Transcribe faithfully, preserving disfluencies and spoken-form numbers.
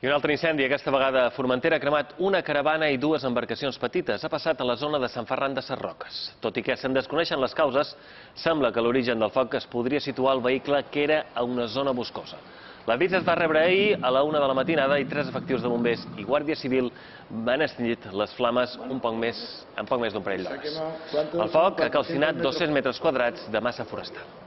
I un altre incendi, aquesta vegada a Formentera, ha cremat una caravana i dues embarcacions petites. Ha passat a la zona de Sant Ferran de Sarroques. Tot i que se'n desconeixen les causes, sembla que l'origen del foc es podria situar al vehicle que era a una zona boscosa. L'avís es va rebre ahir a la una de la matinada i tres efectius de bombers i Guàrdia Civil van extingir les flames un poc més, en poc més d'un parell d'hores. El foc ha calcinat dos-cents metres quadrats de massa forestal.